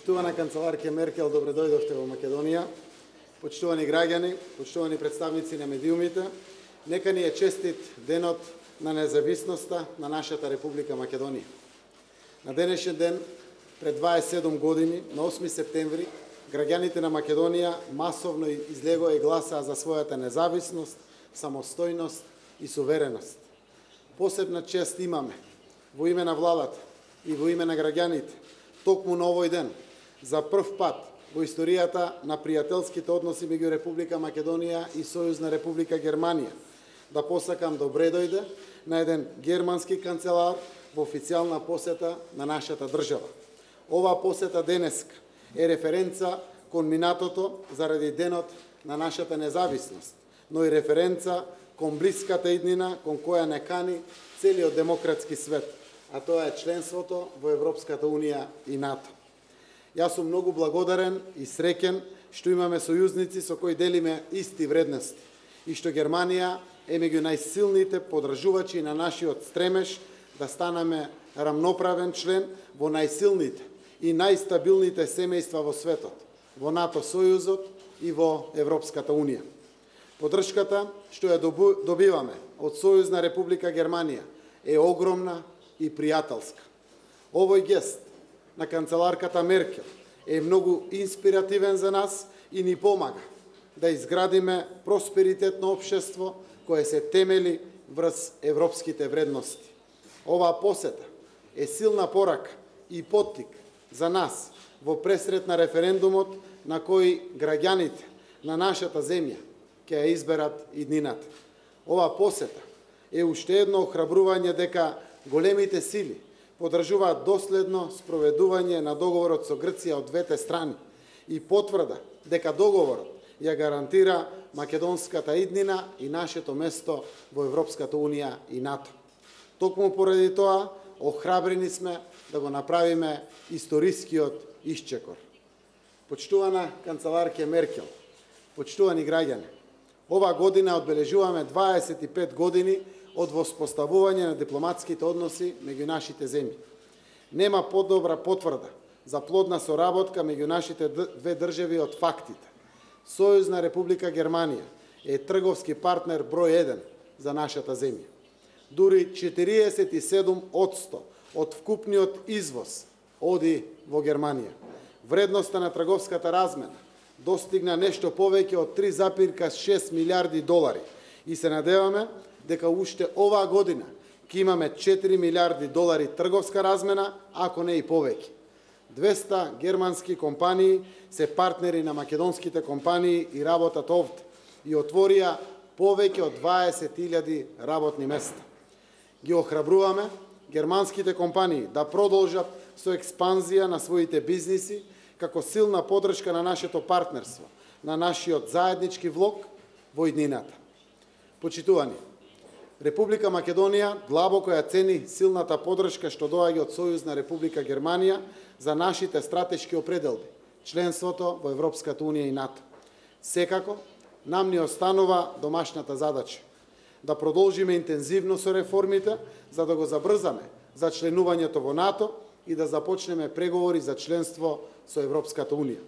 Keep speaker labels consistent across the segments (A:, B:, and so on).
A: Почитувана канцеларке Меркел, добре дојдовте во Македонија. Почитувани граѓани, почитувани представници на медиумите, нека ни е честит денот на независноста на нашата Република Македонија. На денешен ден, пред 27 години, на 8 септември, граѓаните на Македонија масовно излегоа и гласаа за својата независност, самостојност и сувереност. Посебна чест имаме во име на владата и во име на граѓаните, токму на овој ден, за прв пат во историјата на пријателските односи меѓу Република Македонија и Сојузна Република Германија, да посакам добре дојде на еден германски канцелар во официјална посета на нашата држава. Оваа посета денеска е референца кон минатото заради денот на нашата независност, но и референца кон блиската иднина кон која не кани целиот демократски свет, а тоа е членството во Европската Унија и НАТО. Јас сум многу благодарен и среќен што имаме сојузници со кои делиме исти вредности и што Германија е меѓу најсилните подржувачи на нашиот стремеж да станеме рамноправен член во најсилните и најстабилните семејства во светот, во НАТО сојузот и во Европската Унија. Подршката што ја добиваме од Сојузна Република Германија е огромна и пријателска. Овој гест на канцеларката Меркел е многу инспиративен за нас и ни помага да изградиме просперитетно општество кое се темели врз европските вредности. Оваа посета е силна порака и поттик за нас во пресрет на референдумот на кој граѓаните на нашата земја ќе ја изберат иднината. Оваа посета е уште едно охрабрување дека големите сили подржуваат доследно спроведување на договорот со Грција од двете страни и потврда дека договорот ја гарантира македонската иднина и нашето место во Европската Унија и НАТО. Токму поради тоа, охрабрени сме да го направиме историскиот исчекор. Почитувана канцеларке Меркел, почитувани граѓани, оваа година одбележуваме 25 години од воспоставување на дипломатските односи меѓу нашите земји. Нема подобра потврда за плодна соработка меѓу нашите две држави од фактите. Сојузна Република Германија е трговски партнер број 1 за нашата земја. Дури 47% од вкупниот извоз оди во Германија. Вредноста на трговската размена достигна нешто повеќе од 3,6 милиарди долари и се надеваме дека уште оваа година ќе имаме 4 милиарди долари трговска размена, ако не и повеќе. 200 германски компании се партнери на македонските компании и работат овде и отворија повеќе од 20.000 работни места. Ги охрабруваме германските компании да продолжат со експанзија на своите бизниси како силна подршка на нашето партнерство, на нашиот заеднички влог во иднината. Почитувани, Република Македонија длабоко ја цени силната подршка што доаѓа од Сојузна Република Германија за нашите стратешки определби, членството во Европската Унија и НАТО. Секако, нам ни останува домашната задача да продолжиме интензивно со реформите за да го забрзаме за членувањето во НАТО и да започнеме преговори за членство со Европската Унија.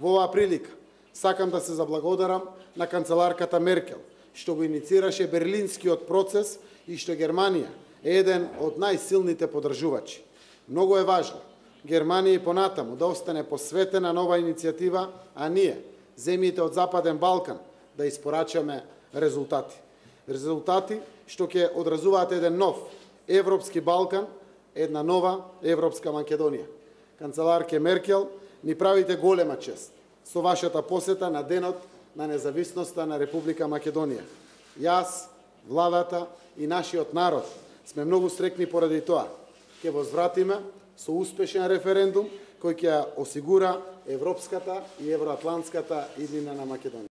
A: Во оваа прилика сакам да се заблагодарам на канцеларката Меркел што го иницираше берлинскиот процес и што Германија е еден од најсилните подржувачи. Многу е важно Германија и понатаму да остане посветена на оваа иницијатива, а ние, земјите од Западен Балкан, да испорачаме резултати. Резултати што ќе одразуваат еден нов Европски Балкан, една нова Европска Македонија. Канцеларке Меркел, ни правите голема чест со вашата посета на денот на независноста на Република Македонија. Јас, владата и нашиот народ сме многу среќни поради тоа. Ќе возвратиме со успешен референдум кој ќе осигура европската и евроатлантската иднина на Македонија.